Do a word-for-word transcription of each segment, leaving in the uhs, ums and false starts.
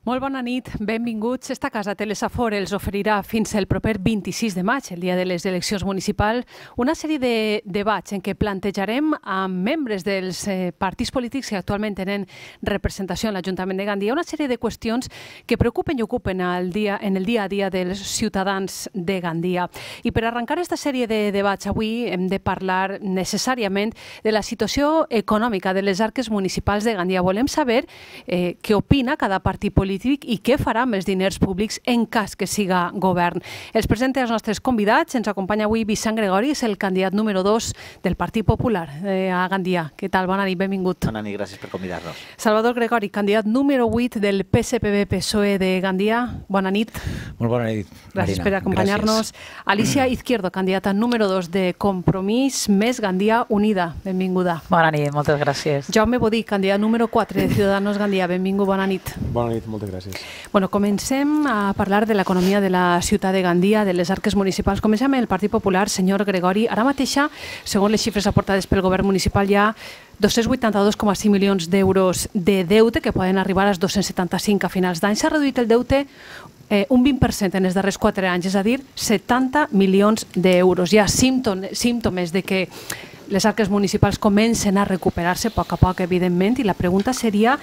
Molt bona nit, benvinguts. Esta casa Telesafor els oferirà fins el proper vint-i-sis de maig, el dia de les eleccions municipals, una sèrie de debats en què plantejarem amb membres dels eh, partits polítics que actualment tenen representació en l'Ajuntament de Gandia una sèrie de qüestions que preocupen i ocupen el dia, en el dia a dia dels ciutadans de Gandia. I per arrencar aquesta sèrie de debats avui hem de parlar necessàriament de la situació econòmica de les arques municipals de Gandia. Volem saber eh, què opina cada partit polític i què farà amb els diners públics en cas que siga govern. Els presenta els nostres convidats. Ens acompanya avui Vicent Gregori, és el candidat número dos del Partit Popular eh, a Gandia. Què tal? Bona nit, benvingut. Bona nit, gràcies per convidar-nos. Salvador Gregori, candidat número vuit del P S P B P S O E de Gandia. Bona nit. Molt bona nit, Gràcies Marina. per acompanyar-nos. Alicia Izquierdo, candidata número dos de Compromís més Gandia Unida. Benvinguda. Bona nit, moltes gràcies. Jaume Bodí, candidat número quatre de Ciudadanos Gandia. Benvingut, bona nit. Bona nit, moltes gràcies. Bueno, comencem a parlar de l'economia de la ciutat de Gandia, de les arques municipals. Comencem amb el Partit Popular, senyor Gregori. Ara mateixa, segons les xifres aportades pel govern municipal, hi ha dos-cents vuitanta-dos coma cinc milions d'euros de deute que poden arribar als dos-cents setanta-cinc a finals d'any. S'ha reduït el deute eh, un vint per cent en els darrers quatre anys, és a dir, setanta milions d'euros. Hi ha símptomes de que les arques municipals comencen a recuperar-se a poc a poc, evidentment, i la pregunta seria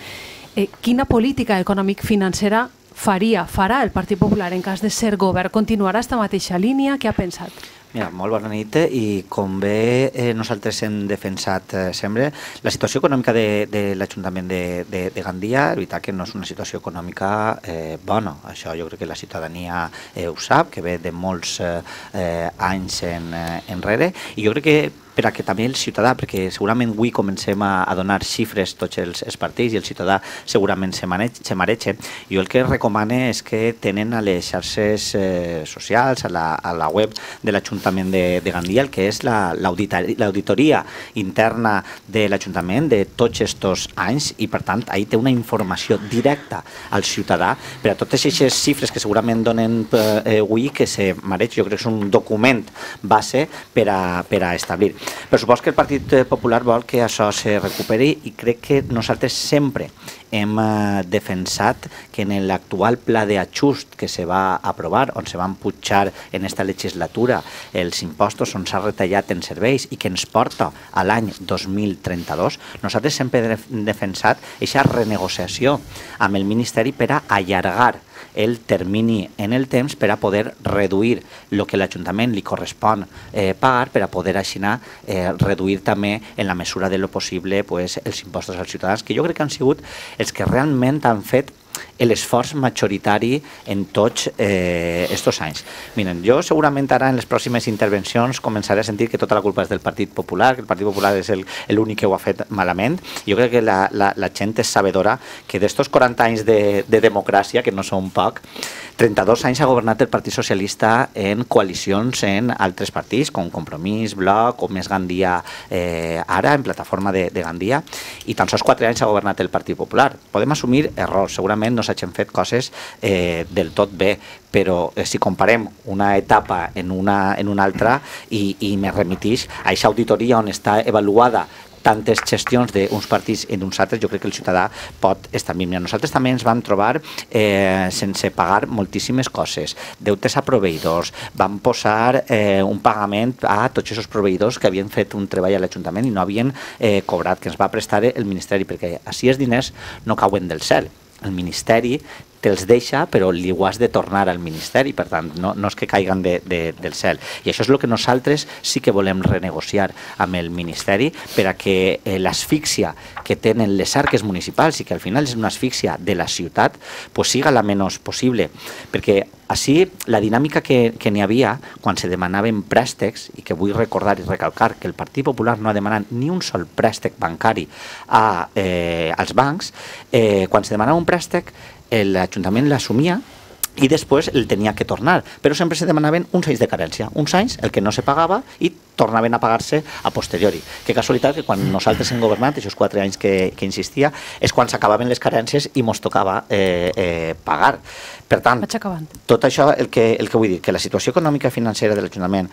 eh, quina política econòmic-financera faria, farà el Partit Popular en cas de ser govern? Continuarà esta mateixa línia? Què ha pensat? Mira, molt bona nit, i com bé eh, nosaltres hem defensat eh, sempre, la situació econòmica de, de l'Ajuntament de, de, de Gandia, és veritat que no és una situació econòmica eh, bona. Això jo crec que la ciutadania eh, ho sap, que ve de molts eh, anys en, eh, enrere, i jo crec que per a que també el ciutadà, perquè segurament avui comencem a, a donar xifres tots els, els partits i el ciutadà segurament se, maneig, se mareja. Jo el que recomane és que tenen a les xarxes eh, socials, a la, a la web de l'Ajuntament de, de Gandia, el que és l'auditoria interna de l'Ajuntament de tots aquests anys, i per tant ahí té una informació directa al ciutadà per a totes aquestes xifres que segurament donen eh, avui que se mareig. Jo crec que és un document base per a, per a establir. Per suposo que el Partit Popular vol que això se recuperi, i crec que nosaltres sempre hem eh, defensat que en l'actual pla d'ajust que se va aprovar, on se van pujar en esta legislatura els impostos, on s'ha retallat en serveis i que ens porta a l'any dos mil trenta-dos, nosaltres sempre hem defensat aquesta renegociació amb el Ministeri per a allargar el termini en el temps per a poder reduir el que l'Ajuntament li correspon eh, pagar, per a poder així eh, reduir també en la mesura de lo possible pues, els impostos als ciutadans, que jo crec que han sigut els que realment han fet l'esforç majoritari en tots aquests eh, anys. Miren, jo segurament ara en les pròximes intervencions començaré a sentir que tota la culpa és del Partit Popular, que el Partit Popular és l'únic que ho ha fet malament. Jo crec que la, la, la gent és sabedora que d'estos quaranta anys de, de democràcia, que no són poc, trenta-dos anys ha governat el Partit Socialista en coalicions en altres partits, com Compromís, Bloc o Més Gandia eh, ara, en plataforma de, de Gandia, i tan sols quatre anys ha governat el Partit Popular. Podem assumir errors, segurament no s'hagin fet coses eh, del tot bé, però eh, si comparem una etapa en una, en una altra, i, i me remitix a aquesta auditoria on està avaluada tantes gestions d'uns partits i d'uns altres, jo crec que el ciutadà pot estar millor. Nosaltres també ens vam trobar eh, sense pagar moltíssimes coses, deutes a proveïdors, vam posar eh, un pagament a tots aquests proveïdors que havien fet un treball a l'Ajuntament i no havien eh, cobrat, que ens va prestar el Ministeri, perquè així els diners no cauen del cel. El Ministeri te'ls deixa, però li ho has de tornar al Ministeri, per tant, no, no és que caiguen de, de, del cel. I això és el que nosaltres sí que volem renegociar amb el Ministeri, per a que eh, l'asfíxia que tenen les arques municipals, i que al final és una asfíxia de la ciutat, pues siga la menys possible, perquè així la dinàmica que, que n'hi havia quan se demanaven préstecs, i que vull recordar i recalcar que el Partit Popular no ha demanat ni un sol préstec bancari a, eh, als bancs, eh, quan se demanava un préstec l'Ajuntament l'assumia i després el tenia que tornar, però sempre se demanaven uns anys de carència, uns anys el que no se pagava i tornaven a pagar-se a posteriori. Que casualitat que quan nosaltres hem governat, aquests quatre anys que, que insistia, és quan s'acabaven les carències i mos tocava eh, eh, pagar. Per tant, tot això, el que, el que vull dir, que la situació econòmica i financera de l'Ajuntament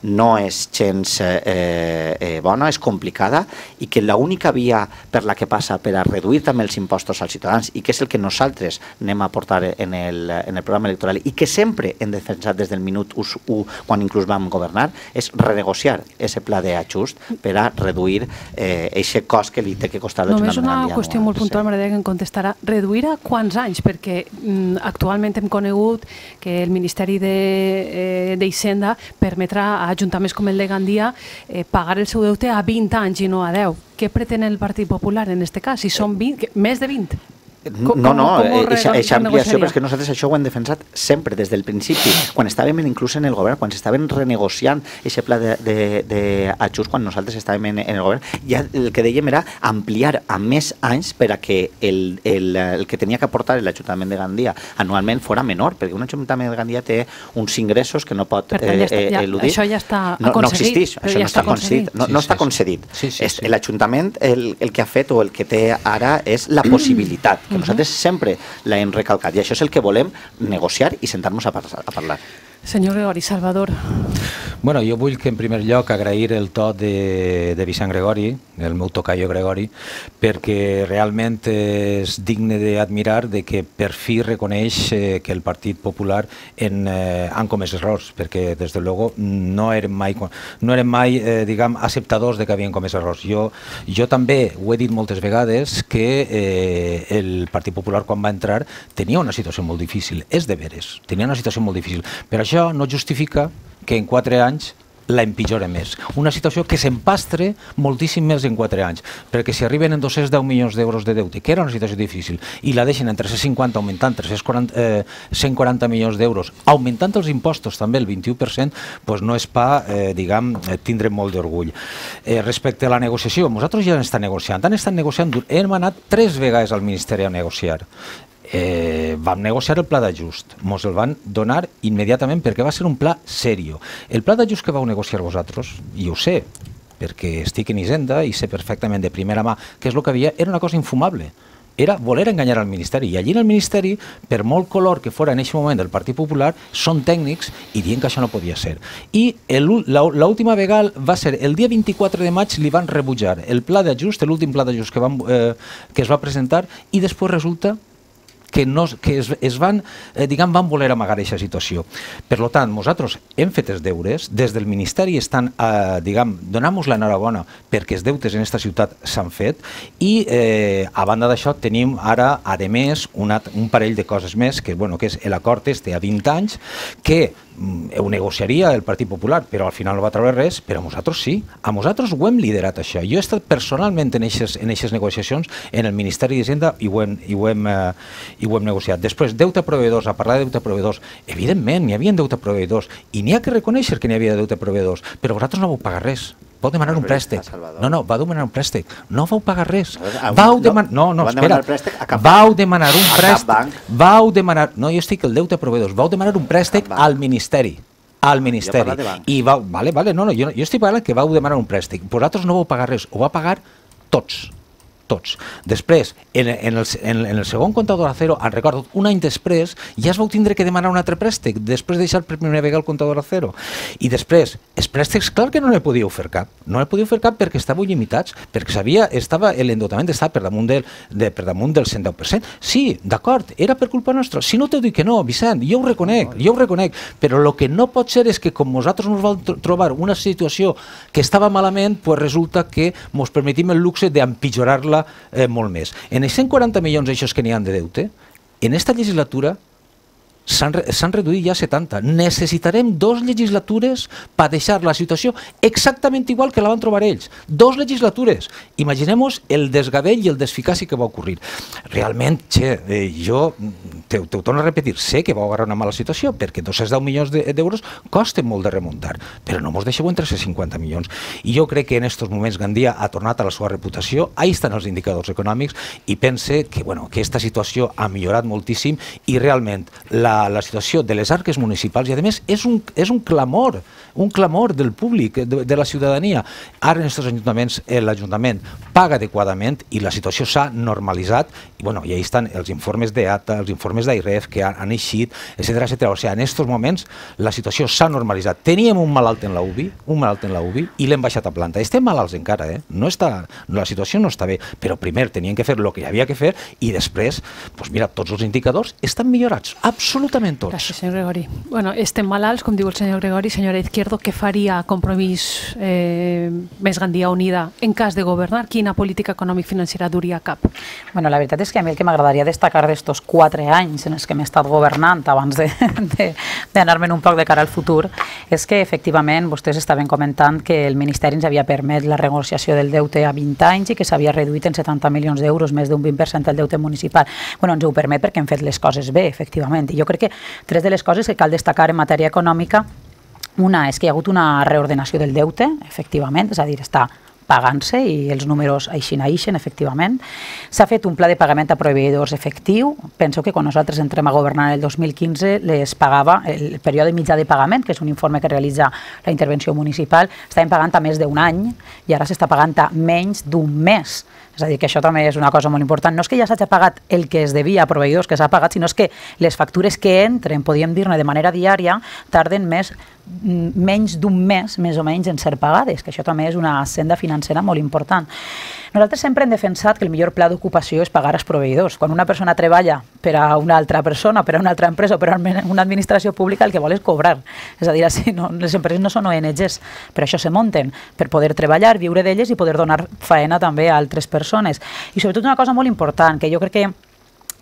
no és gens eh, eh, bona, és complicada, i que l'única via per la que passa per a reduir també els impostos als ciutadans, i que és el que nosaltres anem a portar en el, en el programa electoral, i que sempre hem defensat des del minut u, quan inclús vam governar, és renegociar aquest pla d'ajust per a reduir aquest eh, cost que li té que costar l'Ajuntament. Només una qüestió molt puntual, m'agradaria que em contestarà. Reduir a quants anys? Perquè mm, actualment hem conegut que el Ministeri d'Hisenda eh, permetrà a ajuntaments com el de Gandia eh, pagar el seu deute a vint anys i no a deu. Què pretén el Partit Popular en aquest cas? Si són vint, més de vint? Com, no, no, aquesta ampliació, però és que nosaltres això ho hem defensat sempre, des del principi, quan estàvem inclús en el govern, quan s'estaven renegociant aquest pla d'ajust, quan nosaltres estàvem en, en el govern, ja el que dèiem era ampliar a més anys per a que el, el, el que tenia que aportar l'Ajuntament de Gandia anualment fora menor, perquè un Ajuntament de Gandia té uns ingressos que no pot eh, ja està, ja, eludir. Això ja està no, no existeix, això ja no està concedit. No, no sí, està concedit. Sí, sí, sí. L'Ajuntament el, el que ha fet o el que té ara és la possibilitat, que nosaltres sempre l'hem recalcat, i això és el que volem negociar i sentar-nos a, a parlar. Senyor Gregori, Salvador. Bueno, jo vull que en primer lloc agrair el to de, de Vicent Gregori, el meu tocayo Gregori, perquè realment és digne d'admirar de que per fi reconeix eh, que el Partit Popular en, eh, han comès errors, perquè des de luego no eren mai, no eren mai eh, diguem, acceptadors de que havien comès errors. Jo, jo també ho he dit moltes vegades que eh, el Partit Popular quan va entrar tenia una situació molt difícil, és de veres, tenia una situació molt difícil, però això no justifica que en quatre anys la empitjora més. Una situació que s'empastre moltíssim més en quatre anys, perquè si arriben en dos-cents deu milions d'euros de deute, que era una situació difícil, i la deixen en tres-cents cinquanta, augmentant cent quaranta milions d'euros, augmentant els impostos també el vint-i-u per cent, doncs no és pa, eh, diguem, tindre molt d'orgull. Eh, respecte a la negociació, nosaltres ja estem negociant, han estat negociant, hem anat tres vegades al Ministeri a negociar. Eh, vam negociar el pla d'ajust, ens el van donar immediatament perquè va ser un pla serio. El pla d'ajust que vau negociar vosaltres, i ho sé, perquè estic en Hisenda i sé perfectament de primera mà què és el que havia, era una cosa infumable. Era voler enganyar al Ministeri, i allí en el Ministeri, per molt color que fora en aquest moment del Partit Popular, són tècnics i diuen que això no podia ser. I l'última vegada va ser el dia vint-i-quatre de maig, li van rebutjar el pla d'ajust, l'últim pla d'ajust que, eh, que es va presentar, i després resulta que, no, que es, es van, eh, diguem, van voler amagar aquesta situació. Per tant, nosaltres hem fet els deures, des del Ministeri estan, eh, diguem, donant-nos l'enhorabona perquè els deutes en aquesta ciutat s'han fet, i eh, a banda d'això tenim ara, a més, una, un parell de coses més, que, bueno, que és l'acord este a vint anys, que ho negociaria el Partit Popular, però al final no va treure res, però a nosaltres sí. A nosaltres ho hem liderat, això. Jo he estat personalment en aquestes negociacions en el Ministeri d'Hisenda i ho hem, i ho hem, eh, i ho hem negociat. Després, deute a proveïdors, a parlar de deute a proveïdors, evidentment, n'hi havia deute a proveïdors, i n'hi ha que reconèixer que n'hi havia deute a proveïdors, però vosaltres no vau pagar res. Vau demanar un préstec. No, no, vau demanar un préstec. No vau pagar res. Vau demanar... No, no, espera. Vau demanar un préstec. Vau demanar... No, jo estic el deute a proveïdors. Vau demanar un préstec al Ministeri. Al Ministeri. I vau... Vale, vale, no, no, jo estic parlant que vau demanar un préstec. Vosaltres no vau pagar res. Ho va pagar tots. Tots. Després, en, en, el, en, en el segon comptador a cero, en recordo, un any després, ja es vau tindre que demanar un altre préstec, després de deixar per primera vegada el comptador a cero. I després, els préstecs, clar que no ne podíeu fer cap. No ne podíeu fer cap perquè estàveu limitats, perquè sabia, estava, l'endeutament estava per damunt del, de, per damunt del cent deu per cent. Sí, d'acord, era per culpa nostra. Si no t'ho dic que no, Vicent, jo ho reconec, jo ho reconec, però el que no pot ser és que com nosaltres ens vam trobar una situació que estava malament, pues resulta que ens permetim el luxe d'empitjorar-la Eh, molt més. En els cent quaranta milions d'aixòs que n'hi ha de deute, en esta legislatura s'han reduït ja a setanta. Necessitarem dues legislatures per deixar la situació exactament igual que la van trobar ells. Dos legislatures. Imaginem-nos el desgavell i el desficaci que va ocorrir. Realment, che, eh, jo te ho torno a repetir, sé que vau agarrar una mala situació, perquè dos-cents deu milions d'euros costen molt de remuntar, però no mos deixeu en tres-cents cinquanta milions. I jo crec que en aquests moments Gandia ha tornat a la seva reputació, ahí estan els indicadors econòmics, i pense que, bueno, que aquesta situació ha millorat moltíssim i realment la, la situació de les arques municipals, i a més és un, és un clamor, un clamor del públic, de, de la ciutadania. Ara en aquests ajuntaments l'Ajuntament paga adequadament i la situació s'ha normalitzat, i, bueno, i ahí estan els informes d'E A T A, els informes d'AIREF que han, han eixit, etcètera, etcètera. O sigui, en aquests moments la situació s'ha normalitzat. Teníem un malalt en la U B I, un malalt en la U B I, i l'hem baixat a planta. Estem malalts encara, eh? No està, la situació no està bé, però primer tenien que fer el que hi havia que fer i després, doncs mira, tots els indicadors estan millorats, absolutament tots. Gràcies, senyor Gregori. Bueno, estem malalts, com diu el senyor Gregori. Senyora Izquierdo, què faria Compromís eh, més Gandia Unida en cas de governar? Quina política econòmic-financera duria a cap? Bueno, la veritat és que a mi el que m'agradaria destacar d'estos quatre anys en els que m'he estat governant abans d'anar-me'n un poc de cara al futur és que efectivament vostès estaven comentant que el Ministeri ens havia permès la renegociació del deute a vint anys i que s'havia reduït en setanta milions d'euros, més d'un vint per cent del deute municipal. Bueno, ens ho permet perquè hem fet les coses bé, efectivament. I jo crec que tres de les coses que cal destacar en matèria econòmica, una és que hi ha hagut una reordenació del deute, efectivament, és a dir, està pagant-se i els números així naixen, efectivament. S'ha fet un pla de pagament a proveïdors efectiu. Penso que quan nosaltres entrem a governar el dos mil quinze les pagava el període mitjà de pagament, que és un informe que realitza la intervenció municipal, estàvem pagant a més d'un any i ara s'està pagant a menys d'un mes. És a dir, que això també és una cosa molt important. No és que ja s'hagi pagat el que es devia a proveïdors que s'ha pagat, sinó és que les factures que entren, podríem dir-ne de manera diària, tarden més, menys d'un mes, més o menys, en ser pagades, que això també és una senda financera molt important. Nosaltres sempre hem defensat que el millor pla d'ocupació és pagar als proveïdors. Quan una persona treballa per a una altra persona, per a una altra empresa o per a una administració pública, el que vol és cobrar. És a dir, així, no, les empreses no són O N Ges, per això se munten, per poder treballar, viure d'elles i poder donar faena també a altres persones. I sobretot una cosa molt important, que jo crec que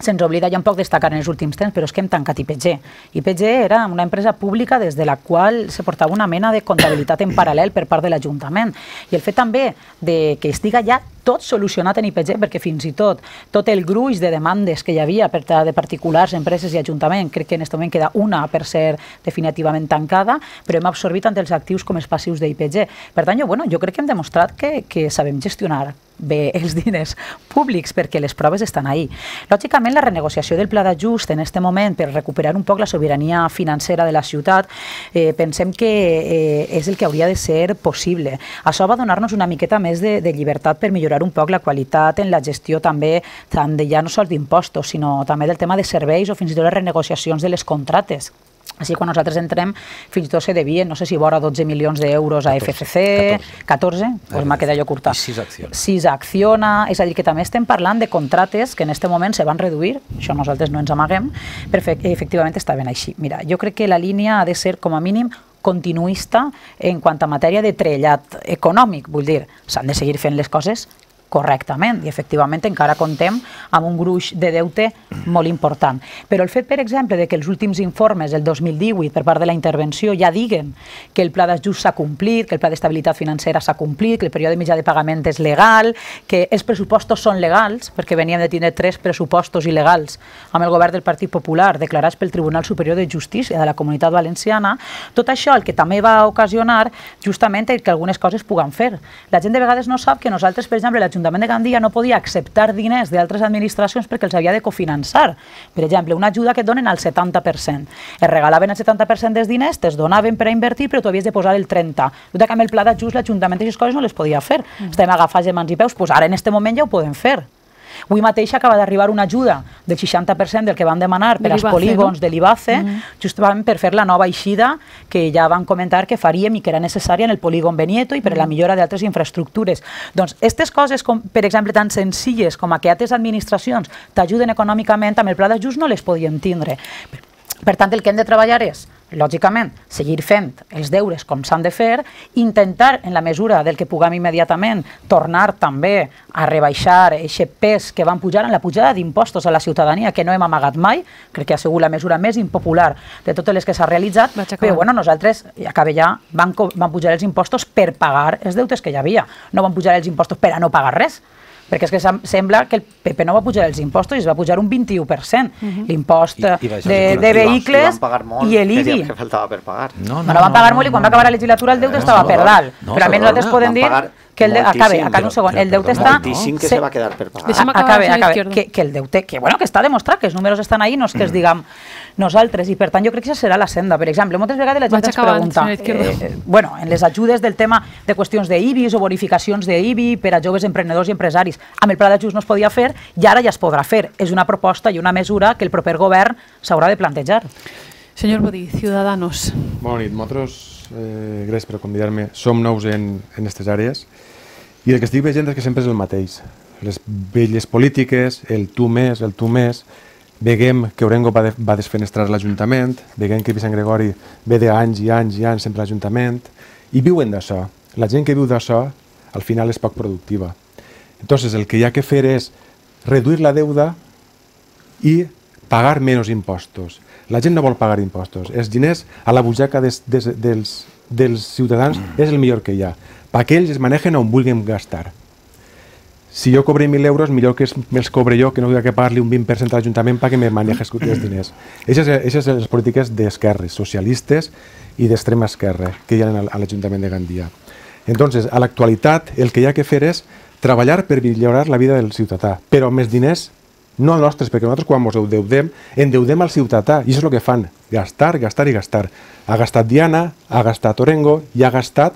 se'ns oblida ja un poc destacar en els últims temps, però és que hem tancat I P G. I P G era una empresa pública des de la qual se portava una mena de comptabilitat en paral·lel per part de l'Ajuntament. I el fet també de que estiga ja tot solucionat en I P G, perquè fins i tot tot el gruix de demandes que hi havia per de particulars, empreses i ajuntament, crec que en aquest moment queda una per ser definitivament tancada, però hem absorbit tant els actius com els passius d'I P G. Per tant, jo, bueno, jo crec que hem demostrat que, que sabem gestionar bé els diners públics perquè les proves estan ahí. Lògicament, la renegociació del pla d'ajust en aquest moment per recuperar un poc la sobirania financera de la ciutat, eh, pensem que eh, és el que hauria de ser possible. Això va donar-nos una miqueta més de, de llibertat per millorar un poc la qualitat en la gestió també, tant de ja no sols d'impostos, sinó també del tema de serveis o fins i tot les renegociacions de les contractes. Així, quan nosaltres entrem, fins i tot se devien, no sé si vora dotze milions d'euros a F C C, catorze, doncs m'ha quedat jo curta. I sis a Acciona. sis a Acciona, és a dir, que també estem parlant de contractes que en aquest moment se van reduir, això nosaltres no ens amaguem, però efectivament estaven així. Mira, jo crec que la línia ha de ser, com a mínim, continuista en quant a matèria de trellat econòmic, vull dir, s'han de seguir fent les coses correctament i efectivament encara contem amb un gruix de deute molt important. Però el fet, per exemple, de que els últims informes del dos mil divuit per part de la intervenció ja diguen que el pla d'ajust s'ha complit, que el pla d'estabilitat financera s'ha complit, que el període mitjà de pagament és legal, que els pressupostos són legals, perquè veníem de tenir tres pressupostos il·legals amb el govern del Partit Popular declarats pel Tribunal Superior de Justícia de la Comunitat Valenciana, tot això el que també va ocasionar justament que algunes coses puguen fer. La gent de vegades no sap que nosaltres, per exemple, l'Ajuntament de Gandia no podia acceptar diners d'altres administracions perquè els havia de cofinançar. Per exemple, una ajuda que et donen al setanta per cent. Es regalaven el setanta per cent dels diners, te'ls donaven per a invertir, però tu havies de posar el trenta per cent. Tot que amb el pla d'ajust l'Ajuntament d'aquestes coses no les podia fer. Estem agafats de mans i peus, doncs ara en aquest moment ja ho podem fer. Avui mateix acaba d'arribar una ajuda del seixanta per cent del que van demanar per als polígons de l'I B A C E, justament per fer la nova eixida que ja van comentar que faríem i que era necessària en el polígon Benieto i per a la millora d'altres infraestructures. Doncs aquestes coses, com, per exemple, tan senzilles com a que altres administracions t'ajuden econòmicament, amb el pla d'ajust no les podien tindre. Per tant, el que hem de treballar és, lògicament, seguir fent els deures com s'han de fer, intentar, en la mesura del que puguem immediatament, tornar també a rebaixar aquest pes que van pujar en la pujada d'impostos a la ciutadania, que no hem amagat mai, crec que ha sigut la mesura més impopular de totes les que s'ha realitzat, però bueno, nosaltres, i acaba ja, van, van pujar els impostos per pagar els deutes que hi havia, no van pujar els impostos per a no pagar res. perquè és que sembla que el P P no va pujar els impostos i es va pujar un vint-i-u per cent. L'impost de vehicles i l'I B I. Que faltava per pagar. No, no van pagar molt i quan va acabar la legislatura el deute estava per dalt. Però almenys nosaltres podem dir que el acabe, acá un segon, el deute està... Moltíssim que se va quedar per pagar. Acabe, acabe, que el deute, que bueno, que està demostrat, que els números estan ahí, no és que els diguem nosaltres, i per tant jo crec que això serà la senda. Per exemple, moltes vegades la gent ens pregunta, bueno, en les ajudes del tema de qüestions d'I B I s o bonificacions d'I B I per a joves emprenedors i empresaris, amb el pla d'ajust no es podia fer i ara ja es podrà fer. És una proposta i una mesura que el proper govern s'haurà de plantejar. Senyor Bodí, Ciudadanos. Bona nit, nosaltres, eh, gràcies per convidar-me, som nous en aquestes àrees i el que estic veient és que sempre és el mateix. Les velles polítiques, el tu més, el tu més, veiem que Orengo va, de, va desfenestrar l'Ajuntament, veiem que Vicent Gregori ve d'anys i anys i anys sempre a l'Ajuntament i viuen d'això. La gent que viu d'això al final és poc productiva. Entonces el que hi ha que fer és reduir la deuda i pagar menys impostos. La gent no vol pagar impostos. Els diners a la butxaca des, des, dels, dels ciutadans és el millor que hi ha, perquè ells es manegen on vulguin gastar. Si jo cobré mil euros, millor que me'ls cobre jo, que no hagi que pagar-li un vint per cent a l'Ajuntament perquè me maneges els diners. Aquestes són les polítiques d'esquerres, socialistes i d'extrema esquerra que hi ha a l'Ajuntament de Gandia. Entonces, a l'actualitat, el que hi ha que fer és treballar per millorar la vida del ciutadà, però amb més diners no nostres, perquè nosaltres quan ens endeudem, endeudem al ciutadà, i això és el que fan, gastar, gastar i gastar. Ha gastat Diana, ha gastat Orengo i ha gastat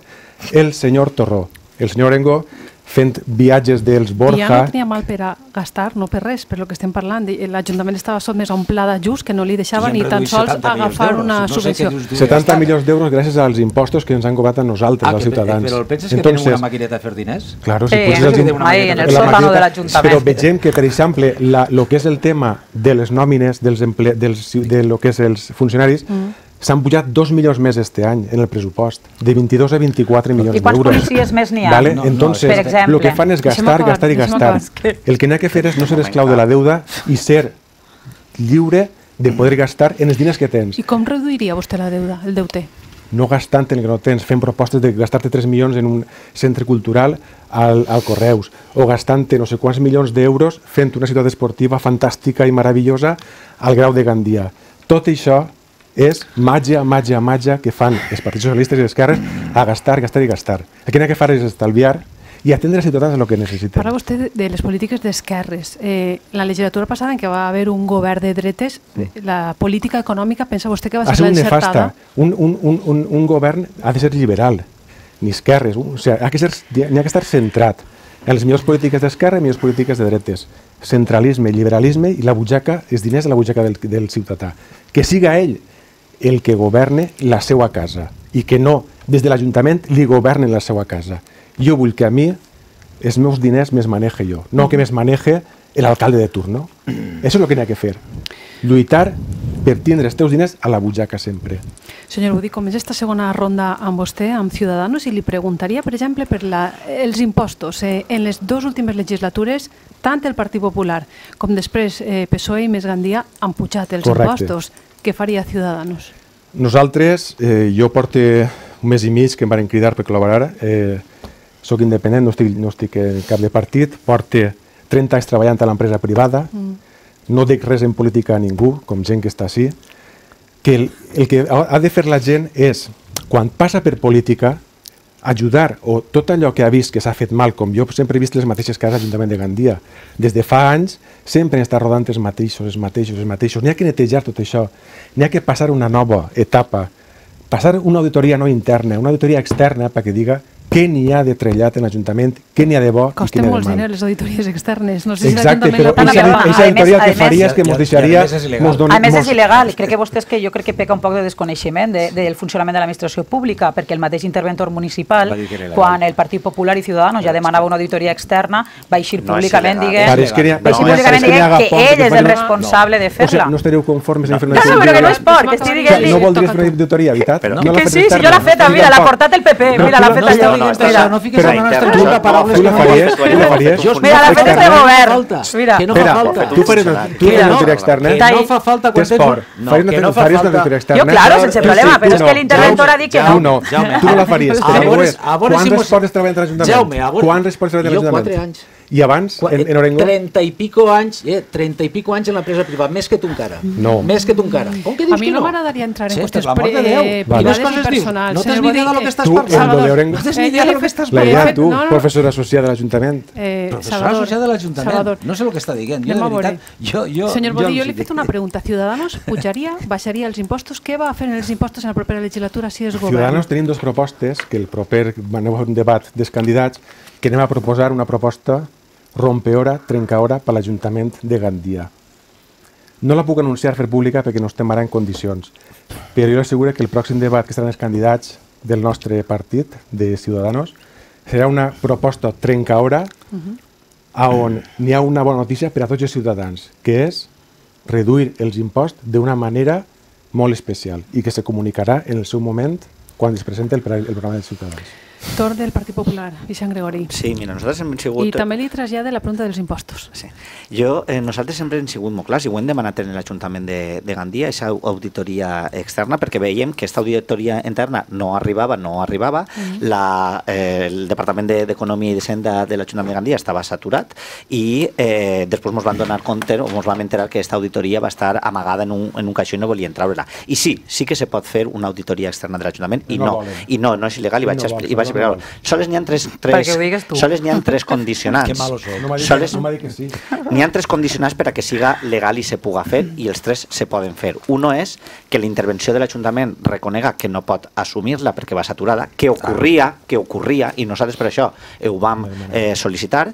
el senyor Torró. El senyor Orengo fent viatges dels Borja... I ja no tenia mal per a gastar, no per res, per el que estem parlant. L'Ajuntament estava sotmès a un pla d'ajust que no li deixava ni tan sols agafar una subvenció. setanta milions d'euros gràcies als impostos que ens han cobrat a nosaltres, als ciutadans. Però penses que tenim una maquineta a fer diners? Claro, si poses en el sótano de l'Ajuntament. Però veiem que, per exemple, el que és el tema de les nòmines de lo que és els funcionaris, s'han pujat dos milions més este any en el pressupost, de vint-i-dos a vint-i-quatre milions d'euros. I quants policies més n'hi ha? Vale? Entonces, per exemple, el que fan és gastar, gastar i gastar. El que n'hi ha que fer és no ser esclau de la deuda i ser lliure de poder gastar en els diners que tens. I com reduiria vostè la deuda, el deute? No gastant en el que no tens, fent propostes de gastar-te tres milions en un centre cultural al, al Correus, o gastant-te no sé quants milions d'euros fent una ciutat esportiva fantàstica i meravellosa al Grau de Gandia. Tot això és màgia, màgia, màgia que fan els partits socialistes i les esquerres a gastar, gastar i gastar. El que n'hi ha que fer és estalviar i atendre als ciutadans el que necessiten. Parla vostè de les polítiques d'esquerres. Eh, la legislatura passada en què va haver un govern de dretes, la política econòmica, pensa vostè que va ser l'encertada? Un, un, un, un, un govern ha de ser liberal, ni esquerres. O sigui, ha que ser, n'hi ha que estar centrat en les millors polítiques d'esquerra i millors polítiques de dretes. Centralisme, liberalisme i la butxaca, els diners a la butxaca del, del ciutadà. Que siga ell el que governe la seva casa i que no, des de l'Ajuntament, li governen la seva casa. Jo vull que a mi els meus diners me'ls manege jo, no que me'ls manege l'alcalde de turno. Això és el que n'hi ha que fer. Lluitar per tindre els teus diners a la butxaca sempre. Senyor Bodí, com és esta segona ronda amb vostè, amb Ciudadanos, i li preguntaria, per exemple, per la, els impostos. Eh, en les dues últimes legislatures, tant el Partit Popular com després eh, P S O E i Més Gandia han pujat els Correcte. impostos. Què faria Ciudadanos? Nosaltres, eh, jo porto un mes i mig que em van cridar per col·laborar. Eh, soc independent, no estic, no estic en cap de partit, porto trenta anys treballant a l'empresa privada, mm. no dic res en política a ningú, com gent que està així, que el, el que ha de fer la gent és, quan passa per política, ajudar, o tot allò que ha vist que s'ha fet mal, com jo sempre he vist les mateixes cases a l'Ajuntament de Gandia. Des de fa anys sempre han estat rodant els mateixos, els mateixos, els mateixos. N'hi ha que netejar tot això, n'hi ha que passar una nova etapa, passar una auditoria no interna, una auditoria externa perquè diga què n'hi ha de trellat en l'Ajuntament, què n'hi ha de bo i què n'hi ha de mal. Costen molts diners les auditories externes. No sé Exacte, si però aquesta auditoria el que faria és que ens deixaria... A més és il·legal. Crec que vostè és que jo crec que peca un poc de desconeixement del funcionament de l'administració pública, perquè el mateix interventor municipal, quan el Partit Popular i Ciudadanos ja demanava una auditoria externa, va eixir públicament dient que ell és el responsable de fer-la. No estaríeu conformes en fer una auditoria? No, però que no és por, que estigui dient-li... No voldries fer una auditoria, veritat? Que sí, si jo l'ha fet, mira, l'ha portat el P P, mira, l'ha fet allò. intervenció, no fiques en la nostra Tu boca paraules tu la que no faries, vols. tu la faries. Jo- Mira, la no feta fa de govern. falta. Mira. Que no fa Espera, falta. tu faries una- tu Que faries una no, auditoria externa? que no fa falta quan Tens tens... por. No, Faries que una no fa faries una falta. auditoria externa? Jo, claro, sense Tu problema, sí, però tu és no. que l'interventor ha dit que Tu no. no, Jaume, tu no la faries. a Però veure- és, a veure quants si mos- esports treballen a l'Ajuntament? Jaume, a veure- Quants esports treballen a Jo l'Ajuntament? quatre anys. I abans, en, en Orengo? trenta i pico anys, eh, trenta i pico anys en l'empresa privada, més que tu encara. No. Més que tu encara. Com que dius A mi que no no? m'agradaria entrar en Sí, qüestions per l'amor de pre- Déu. privades Quines i coses dius? personals. No t'has Senyor ni idea de Bodí, lo que estàs Tu, parlant. en lo de Salvador, Orengo... No tens ni eh, idea jo de li lo he que fet- estàs La he idea, fet- tu, no, no. professor associat de l'Ajuntament. Eh, Professor Salvador, associat de l'Ajuntament. Salvador. No sé el que està dient. Jo, Anem de a veure. veritat, jo, jo, Senyor jo Bodí, els jo li he dic. fet una pregunta. Ciudadanos pujaria, baixaria els impostos? Què va fer en els impostos en la propera legislatura si és govern? Ciudadanos tenim dos propostes, que el proper aneu a un debat dels candidats, que anem a proposar una proposta rompeora, trencaora per l'Ajuntament de Gandia. No la puc anunciar, fer pública, perquè no estem ara en condicions, però jo asseguro que el pròxim debat que estaran els candidats del nostre partit, de Ciudadanos, serà una proposta trencaora on n'hi ha una bona notícia per a tots els ciutadans, que és reduir els imposts d'una manera molt especial i que se comunicarà en el seu moment quan es presenta el, el programa dels ciutadans. Torn del Partit Popular, Vicent Gregori. Sí, mira, nosaltres hem sigut... I també li trasllada la pregunta dels impostos. Sí. Jo, eh, nosaltres sempre hem sigut molt clars i ho hem demanat en l'Ajuntament de, de Gandia, aquesta auditoria externa, perquè veiem que aquesta auditoria interna no arribava, no arribava, mm. la, eh, el Departament d'Economia i d'Hisenda de l'Ajuntament de Gandia estava saturat i eh, després ens van donar compte, o ens vam enterar que aquesta auditoria va estar amagada en un, en un caixó i no volien treure-la. I sí, sí que se pot fer una auditoria externa de l'Ajuntament i no, no i no, no és il·legal i vaig, no expli i vaig explicar. Soles n'hi ha tres, tres, soles n'hi ha tres condicionants. Que malos sou. No m'ha dit, Soles, no m'ha dit que sí. N'hi ha tres condicionants per a que siga legal i se puga fer i els tres se poden fer. Uno és que la intervenció de l'Ajuntament reconega que no pot assumir-la perquè va saturada, que ocorria, que ocorria i nosaltres per això ho vam eh, sol·licitar.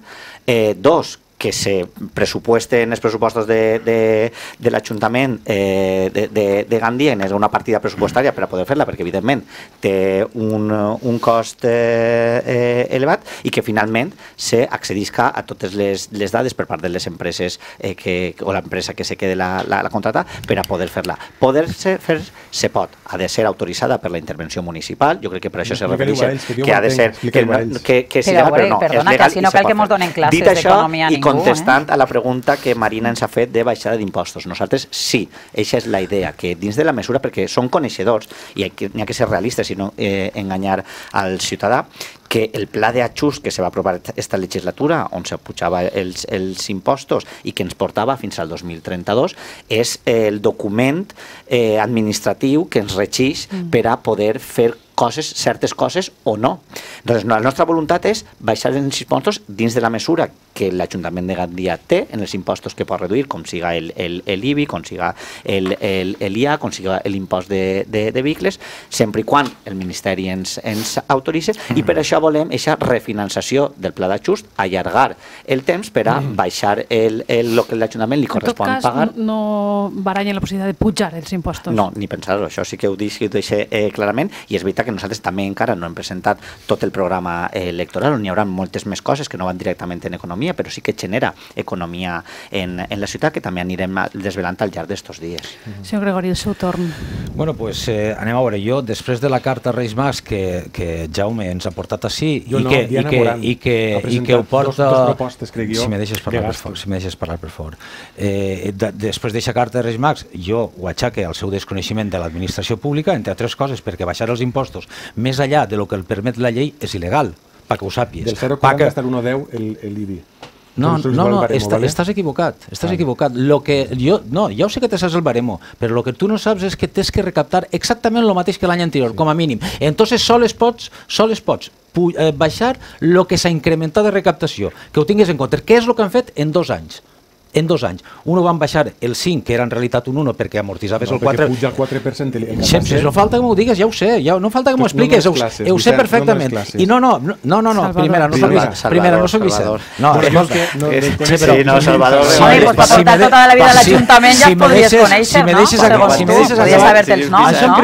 Eh, dos, que se pressupuesten els pressupostos de, de, de l'Ajuntament eh, de, de, de Gandia en una partida pressupostària per a poder fer-la, perquè evidentment té un, un cost eh, eh, elevat i que finalment se accedisca a totes les, les dades per part de les empreses eh, que, o l'empresa que se quede la, la, la contrata per a poder fer-la. Poder-se fer se pot, ha de ser autoritzada per la intervenció municipal, jo crec que per això se refereix que, que ha de ser que, que, que sigui legal, però no, perdona, és legal que si no cal que ens donen classes d'economia a ningú. Contestant eh? a la pregunta que Marina ens ha fet de baixada d'impostos. Nosaltres sí, aquesta és la idea, que dins de la mesura, perquè són coneixedors i n'hi ha que ser realistes i no eh, enganyar al ciutadà, que el pla d'ajust que se va aprovar esta legislatura, on se pujava els, els impostos i que ens portava fins al dos mil trenta-dos, és el document eh, administratiu que ens regeix mm. per a poder fer coses, certes coses o no. Doncs la nostra voluntat és baixar els impostos dins de la mesura que l'Ajuntament de Gandia té en els impostos que pot reduir, com siga el, el, el I B I, com siga el, el, el I A, com siga l'impost de, de, de vehicles, sempre i quan el Ministeri ens, ens autoritzi, i per això volem aquesta refinançació del pla d'ajust, allargar el temps per a baixar el, el, el que l'Ajuntament li correspon pagar. En tot cas, pagar. no baranyen la possibilitat de pujar els impostos. No, ni pensar-ho, això sí que ho deixo eh, clarament, i és veritat que nosaltres també encara no hem presentat tot el programa electoral, on hi haurà moltes més coses que no van directament en economia, però sí que genera economia en, en la ciutat, que també anirem desvelant al llarg d'estos dies. Mm-hmm. Senyor Gregori, el seu torn. Bueno, pues eh, anem a veure, jo després de la carta Reis Mags que, que Jaume ens ha portat així i, no, que, i, que, i, que, i que ho porta... Dos, dos propostes, crec jo, si me deixes parlar per fort, si me deixes parlar per fort. Eh, de, després d'aquesta carta de Reis Mags, jo ho aixaque al seu desconeixement de l'administració pública, entre altres coses, perquè baixar els impostos més allà de lo que el permet la llei és il·legal, perquè ho sàpies. Del zero coma quaranta hasta el uno coma deu el, el I B I. No, no, no, està, estàs equivocat, estàs ah. equivocat. Lo que jo, no, ja ho sé que te saps el baremo, però el que tu no saps és que tens que recaptar exactament el mateix que l'any anterior, sí. com a mínim. Entonces sols pots, sols pots eh, baixar el que s'ha incrementat de recaptació, que ho tinguis en compte. Què és el que han fet en dos anys? En dos anys. Uno van baixar el cinc, que era en realitat un uno, perquè amortitzaves no, el quatre. Perquè puja el quatre per cent. El si no falta que m'ho digues, ja ho sé. Ja, no falta que m'ho expliques, no classes, ho, ho sé perfectament. No I no, no, no, no, no primera, no soc Vicent. Primera, no soc Vicent. No, escolta. Sí, no, Salvador. Oye, pues per portar tota la vida a l'Ajuntament ja es podries conèixer, no? Si me deixes acabar. Podries saber-te els noms, no?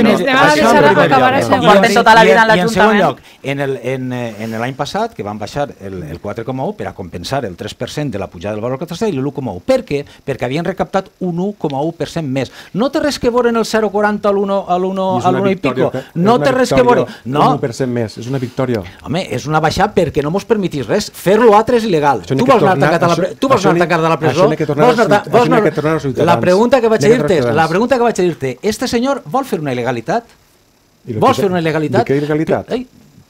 Com porten tota la vida a l'Ajuntament. I en segon lloc, en l'any passat, que van baixar el quatre coma un per a compensar el tres per cent de la pujada del valor catastral i l'u coma nou. Per què? Perquè havien recaptat un u coma u per cent més. No té res que veure en el zero coma quaranta a l'u i pico. No té res que veure. No, un u per cent més, és una victòria. Home, és una baixada perquè no mos permetís res. Fer-lo altre és il·legal. Tu vols anar tancat a la presó? La pregunta que vaig a dir-te és, la pregunta que vaig a dir-te, este senyor vol fer una il·legalitat? Vols fer una il·legalitat? De què il·legalitat?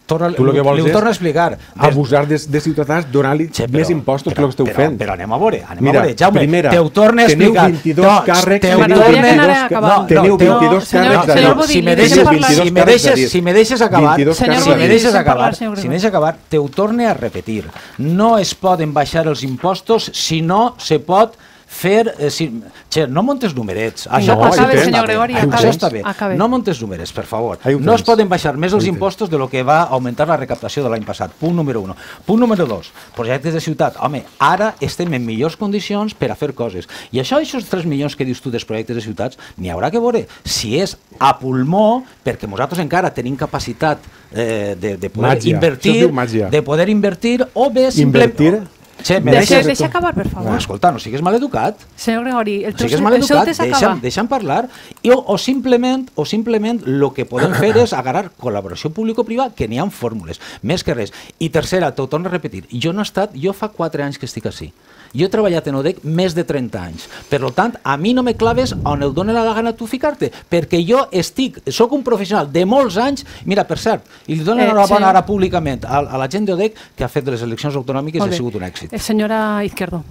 Torna, tu el que vols li ho torno a explicar. Abusar de, de ciutadans, donar-li sí, més impostos però, que el que esteu però, fent. Però anem a veure, anem Mira, a veure. Jaume, primera, te ho torno a explicar. Teniu vint-i-dos càrrecs. Te ho teniu torno a Teniu vint-i-dos càrrecs. Si me deixes, si me deixes acabar, si me deixes acabar, si me deixes acabar, te ho torno a repetir. No es poden baixar els impostos si no se pot fer... Eh, si, che, no montes numerets. Això, no, acabe, senyor Gregori, això està bé. Acabe. No montes numerets, per favor. No es poden baixar més els impostos de lo que va augmentar la recaptació de l'any passat. Punt número un. Punt número dos. Projectes de ciutat. Home, ara estem en millors condicions per a fer coses. I això, aquests tres milions que dius tu dels projectes de ciutats, n'hi haurà que veure si és a pulmó, perquè nosaltres encara tenim capacitat eh, de, de poder màgia. invertir, de poder invertir, o bé simplement... Invertir? Che, me deixa, deixa acabar, per favor. No, escolta, no sigues maleducat. Senyor Gregori, el teu, no sigues maleducat, deixa'm, deixa'm parlar. I, o, o simplement o simplement el que podem fer és agarrar col·laboració público-privada, que n'hi ha fórmules, més que res. I tercera, t'ho torno a repetir, jo no he estat, jo fa quatre anys que estic així. Jo he treballat en O D E C més de trenta anys. Per tant, a mi no me claves on el dóna la gana tu ficar-te, perquè jo estic, sóc un professional de molts anys, mira, per cert, i li dono la bona ara públicament a, a la gent de O D E C que ha fet de les eleccions autonòmiques i ha sigut un èxit. Senyora Izquierdo.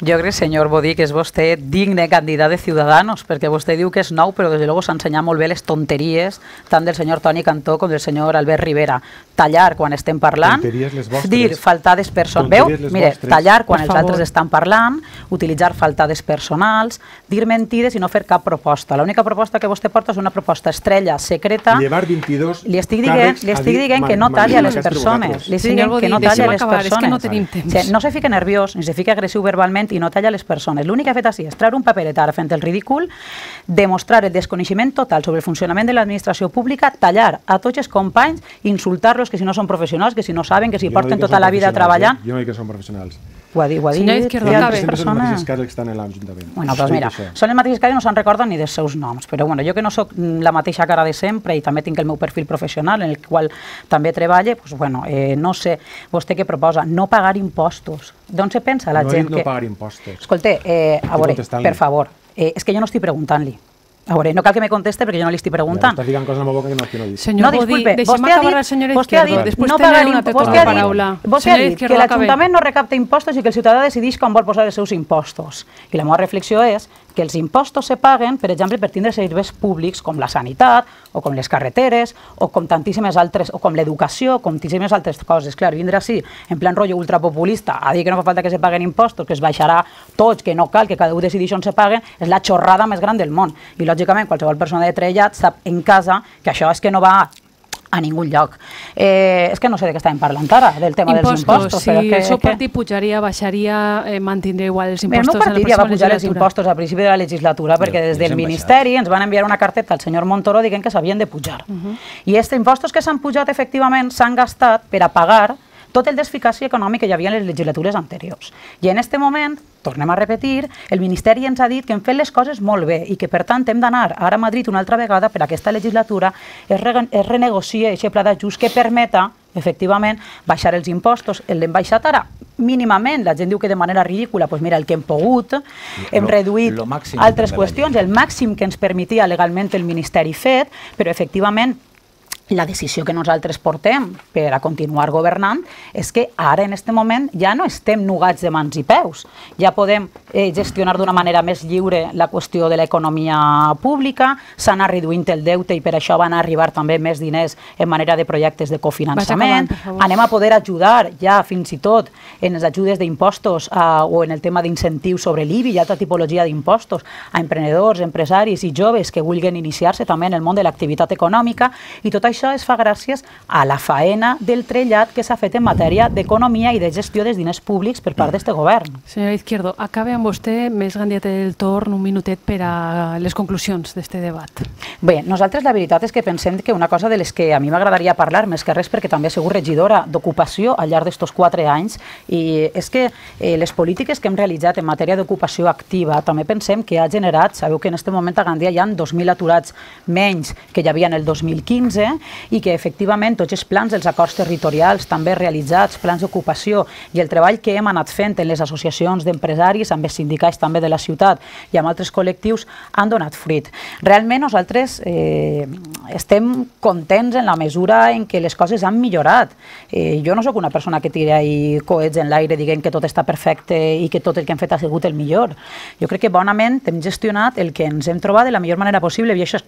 Jo crec, senyor Bodí, que és vostè digne candidat de Ciudadanos, perquè vostè diu que és nou, però des de luego s'ha ensenyat molt bé les tonteries tant del senyor Toni Cantó com del senyor Albert Rivera. Tallar quan estem parlant, dir faltades personals. Veu? Mire, tallar quan els altres estan parlant, utilitzar faltades personals, dir mentides i no fer cap proposta. L'única proposta que vostè porta és una proposta estrella, secreta. Llevar vint-i-dos li estic dient, li estic dient que no talla les persones. Li estic dient que no talla les persones. No tenim temps. No se fica nerviós, ni se fica agressiu verbalment i no talla les persones. L'únic que ha fet així és treure un paperet ara fent el ridícul, demostrar el desconeixement total sobre el funcionament de l'administració pública, tallar a tots els companys, insultar-los que si no són professionals, que si no saben, que si porten tota la vida treballant. Jo no dic que són professionals. Ho ha dit, ho ha dit. Izquierdo, altres persones. Són els persones. mateixos casos que estan en l'Ajuntament. Bueno, doncs mira, són els mateixos casos i no se'n recorden ni dels seus noms, però bueno, jo que no sóc la mateixa cara de sempre i també tinc el meu perfil professional en el qual també treballe, doncs bueno, eh, no sé, vostè què proposa? No pagar impostos. D'on se pensa la no gent que... que... No pagar impostos. Escolta, eh, a veure, per favor, eh, és que jo no estic preguntant-li. A veure, no cal que me conteste perquè jo no li estic preguntant. Ja, estàs dient coses en la boca que no, que no dic. Senyor no, Bodí, deixem acabar la senyora Izquierdo. Després no tenen una tota la paraula. Vostè ha dit que l'Ajuntament no recapta impostos i que el ciutadà decideix com vol posar els seus impostos. I la meva reflexió és que els impostos se paguen, per exemple, per tindre serveis públics com la sanitat, o com les carreteres, o com tantíssimes altres, o com l'educació, com tantíssimes altres coses. Clar, vindre així, en plan rotllo ultrapopulista, a dir que no fa falta que se paguen impostos, que es baixarà tots, que no cal, que cada un decideix on se paguen, és la xorrada més gran del món. I, lògicament, qualsevol persona de trellat sap en casa que això és que no va a ningú lloc. Eh, és que no sé de què estàvem parlant ara, del tema impostos, dels impostos. Si que, el seu que... partit pujaria, baixaria, eh, mantindria igual els impostos. El meu partit ja va pujar els impostos a principi de la legislatura perquè des del Ministeri ens van enviar una carteta al senyor Montoro dient que s'havien de pujar. Uh -huh. I aquests impostos que s'han pujat efectivament s'han gastat per a pagar tot el desficació econòmic que hi havia en les legislatures anteriors. I en aquest moment, tornem a repetir, el Ministeri ens ha dit que hem fet les coses molt bé i que, per tant, hem d'anar ara a Madrid una altra vegada per a aquesta legislatura es, re es renegocia aquest pla d'ajust que permeta, efectivament, baixar els impostos. L'hem baixat ara mínimament, la gent diu que de manera ridícula, doncs mira, el que hem pogut, hem lo, reduït lo altres qüestions, el màxim que ens permetia legalment el Ministeri fet, però efectivament la decisió que nosaltres portem per a continuar governant és que ara, en aquest moment, ja no estem nugats de mans i peus. Ja podem eh, gestionar d'una manera més lliure la qüestió de l'economia pública, s'ha anat reduint el deute i per això van arribar també més diners en manera de projectes de cofinançament. Anem a poder ajudar ja fins i tot en les ajudes d'impostos eh, o en el tema d'incentius sobre l'I B I i altra tipologia d'impostos a emprenedors, empresaris i joves que vulguin iniciar-se també en el món de l'activitat econòmica, i tot això això es fa gràcies a la faena del trellat que s'ha fet en matèria d'economia i de gestió dels diners públics per part d'este govern. Senyora Izquierdo, acabe amb vostè, més Gandia té el torn, un minutet per a les conclusions d'este debat. Bé, nosaltres la veritat és que pensem que una cosa de les que a mi m'agradaria parlar, més que res perquè també he sigut regidora d'ocupació al llarg d'estos quatre anys, i és que eh, les polítiques que hem realitzat en matèria d'ocupació activa també pensem que ha generat, sabeu que en aquest moment a Gandia hi ha dos mil aturats menys que hi havia en el dos mil quinze i que efectivament tots els plans dels acords territorials també realitzats, plans d'ocupació i el treball que hem anat fent en les associacions d'empresaris, amb els sindicats també de la ciutat i amb altres col·lectius han donat fruit. Realment nosaltres eh, estem contents en la mesura en què les coses han millorat. Eh, jo no sóc una persona que tira i coets en l'aire dient que tot està perfecte i que tot el que hem fet ha sigut el millor. Jo crec que bonament hem gestionat el que ens hem trobat de la millor manera possible i això,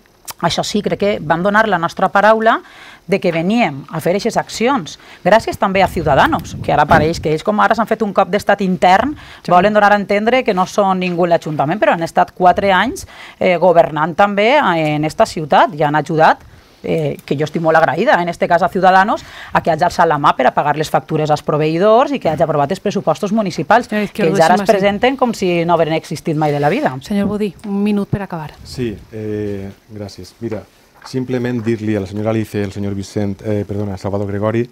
això sí, crec que vam donar la nostra paraula de que veníem a fer aquestes accions. Gràcies també a Ciudadanos, que ara pareix que ells com ara s'han fet un cop d'estat intern, volen donar a entendre que no són ningú en l'Ajuntament, però han estat quatre anys eh, governant també en esta ciutat i han ajudat, eh, que jo estic molt agraïda, en este cas a Ciudadanos, a que hagi alçat la mà per a pagar les factures als proveïdors i que hagi aprovat els pressupostos municipals, que ells ara es presenten com si no hagueren existit mai de la vida. Senyor Budí, un minut per acabar. Sí, eh, gràcies. Mira, simplement dir-li a la senyora Alice, al senyor Vicent, eh, perdona, Salvador Gregori,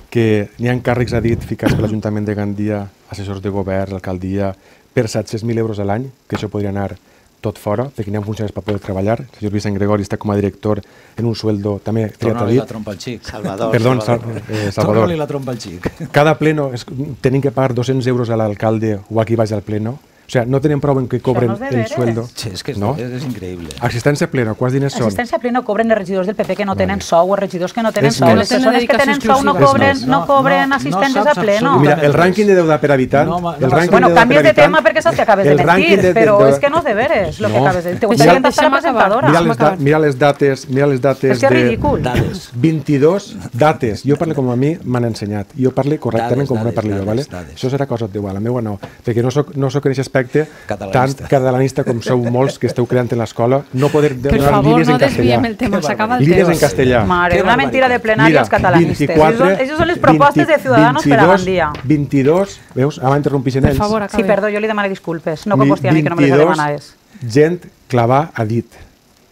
que n'hi ha càrrecs a dit ficats per l'Ajuntament de Gandia, assessors de govern, l'alcaldia, per set-cents mil euros a l'any, que això podria anar tot fora, perquè n'hi ha funcionaris per poder treballar. El senyor Vicent Gregori està com a director en un sueldo també triat a dit. Torna-li la trompa al xic. Salvador. Perdó, Salvador. eh, Salvador. Torna-li la trompa al xic. Cada pleno es, tenim que pagar dos-cents euros a l'alcalde o a qui vagi al pleno. O sea, no tenen prou en que cobren no és de el veres. sueldo. Sí, és que és, no? és increïble. Assistència plena, quants diners són? Assistència plena cobren els regidors del P P que no tenen sou, els regidors que no tenen És sou. més. Les persones que tenen sou no És cobren, més. no cobren No, no assistències saps a pleno. I mira, el rànquing de deuda per habitant... No, no, el rànquing Bueno, de deuda canvies per de tema habitant- perquè saps que acabes de el rànquing mentir, de- de- però de- és que no és de veres el que No. acabes de dir. Te Deixa'm- gustaría estar deixa'm acabar. presentadora. Mira les, da mira les dates, mira les dates És que és de... ridícul. Dades. vint-i-dos dates. Jo parlo com a mi m'han ensenyat. Jo parlo correctament Dades, com me dades, parlo jo, dades, vale? dades. Això serà cosa teva, la meva no. Perquè no soc, no soc en aquest aspecte tan Catalanista. catalanista com sou molts que esteu creant en l'escola. No poder Per donar favor, línies no en castellà. desviem el tema, s'acaba el Línies en temps. castellà. Mare, Qué una mentira de plenari Mira, als catalanistes. vint-i-quatre, Això són les propostes de Ciudadanos per a vint-i-dos, Gandia. vint-i-dos, veus? Ara m'interrompixen Per ells. favor, Sí, acabe. perdó, jo li demano disculpes. No com vostè a mi, que no me les vint-i-dos demanaves. gent clavar a dit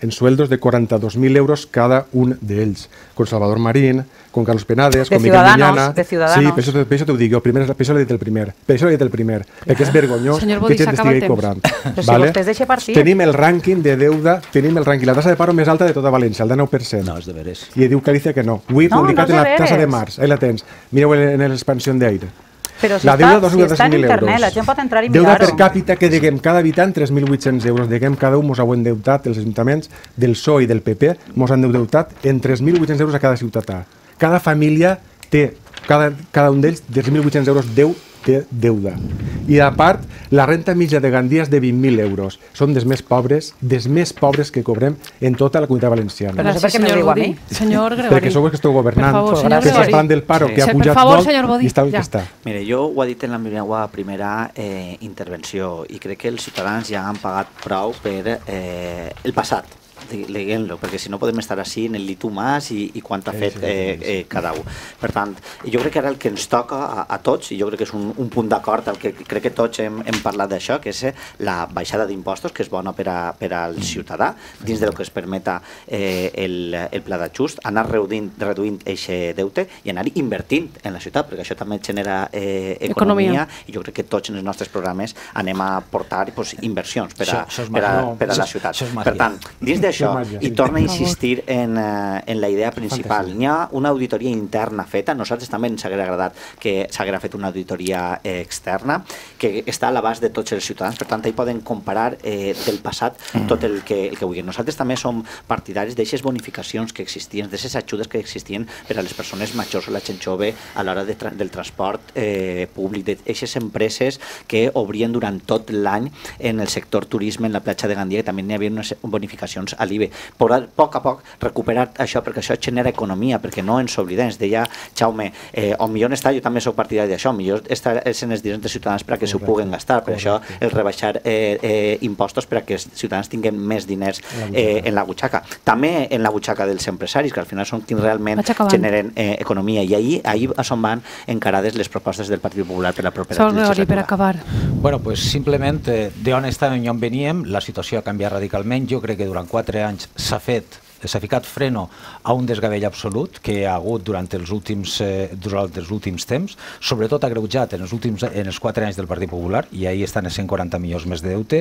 en sueldos de quaranta-dos mil euros cada un d'ells, con Salvador Marín, con Carlos Penades, De con Miquel Ciudadanos, Miñana. de Ciudadanos. Sí, per això, per això t'ho dic jo, primer, per això l'he dit el primer, per això l'he dit el primer, perquè és vergonyós Senyor que Bodí, gent s'acaba el estigui temps. cobrant. Però si vostè es deixa partir. Tenim el rànquing de deuda, tenim el rànquing, la tassa de paro més alta de tota València, el de nou per cent. No, és de veres. I diu Calicia que no. Ho he No, publicat no és en de la tassa de veres. març, ahí la tens. Mireu en, en l'expansió d'aire. Però si La deuda, està, dos si mil està en mil internet, euros. la gent pot entrar i Deuda mirar-ho. per càpita que diguem cada habitant tres mil vuit-cents euros. Diguem cada un mos ha endeutat, els ajuntaments del P S O E i del P P mos han endeutat en tres mil vuit-cents euros a cada ciutadà. Cada família té, cada, cada un d'ells, tres mil vuit-cents euros deu té deuda. I a part, la renta mitja de Gandia és de vint mil euros. Són dels més pobres, dels més pobres que cobrem en tota la comunitat valenciana. Però no sé per què me senyor diu a Budí. mi. Senyor Gregori. Perquè sou els que esteu governant, Per favor, Pues senyor que gràcies. estàs parlant del paro, que ha Sí, pujat per favor, molt senyor Bodí, i està el ja. que està. Mire, jo ho he dit en la meva primera eh, intervenció i crec que els ciutadans ja han pagat prou per eh, el passat, diguem-lo, perquè si no podem estar així en el lit humàs i, i quant ha Sí, fet sí, eh, sí. eh, cada un. Per tant, jo crec que ara el que ens toca a, a tots, i jo crec que és un, un punt d'acord al que crec que tots hem, hem parlat d'això, que és eh, la baixada d'impostos, que és bona per, a, per al ciutadà, dins del que es permeta eh, el, el pla d'ajust, anar reduint reduint aquest deute i anar invertint en la ciutat, perquè això també genera eh, economia, Economia. i jo crec que tots en els nostres programes anem a portar pues, inversions per a, Això- això és per a, màgia. per a la Això- ciutat. això és màgia. Per tant, dins d'això, Això és màgia, i sí. torna a Per favor. insistir en, eh, en la idea principal. N'hi ha una auditoria interna feta, a nosaltres també ens hauria agradat que s'haguera fet una auditoria eh, externa, que està a l'abast de tots els ciutadans, per tant, hi poden comparar eh, del passat tot el que, el que vulguin. Nosaltres també som partidaris d'aixes bonificacions que existien, d'aixes ajudes que existien per a les persones majors o la gent jove a l'hora de tra del transport eh, públic, d'aixes empreses que obrien durant tot l'any en el sector turisme, en la platja de Gandia, que també n'hi havia unes bonificacions a l'I B E. A poc a poc recuperar això, perquè això genera economia, perquè no ens oblidem. Ens deia Jaume, eh, on millor està, jo també soc partidari d'això, millor estar en els diners dels ciutadans perquè s'ho puguen gastar, per això el rebaixar eh, eh, impostos per a que els ciutadans tinguin més diners eh, en la butxaca. També en la butxaca dels empresaris, que al final són qui realment generen eh, economia, i ahir, ahir a on van encarades les propostes del Partit Popular per la propera legislatura. Per acabar. Bueno, pues simplement eh, d'on estàvem i on veníem, la situació ha canviat radicalment. Jo crec que durant quatre anys s'ha fet s'ha ficat freno a un desgavell absolut que hi ha hagut durant els últims, eh, durant els últims temps, sobretot agreujat en els últims en els quatre anys del Partit Popular, i ahir estan a cent quaranta milions més de deute,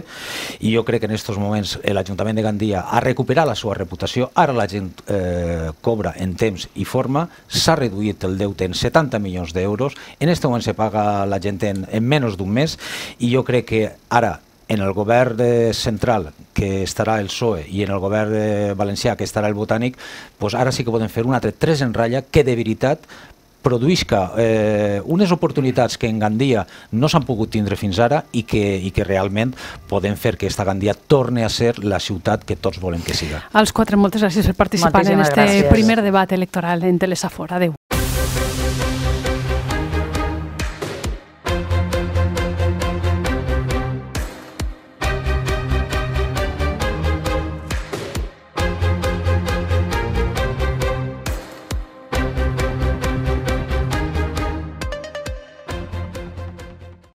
i jo crec que en aquests moments l'Ajuntament de Gandia ha recuperat la seva reputació, ara la gent eh, cobra en temps i forma, s'ha reduït el deute en setanta milions d'euros, en aquest moment se paga la gent en, en menys d'un mes, i jo crec que ara en el govern central, que estarà el P S O E, i en el govern valencià, que estarà el Botànic, doncs ara sí que podem fer un altre tres en ratlla que de veritat produïsca eh, unes oportunitats que en Gandia no s'han pogut tindre fins ara i que, i que realment podem fer que esta Gandia torni a ser la ciutat que tots volem que siga. Als quatre, moltes gràcies per participar en aquest primer debat electoral en Telesafor. Adéu.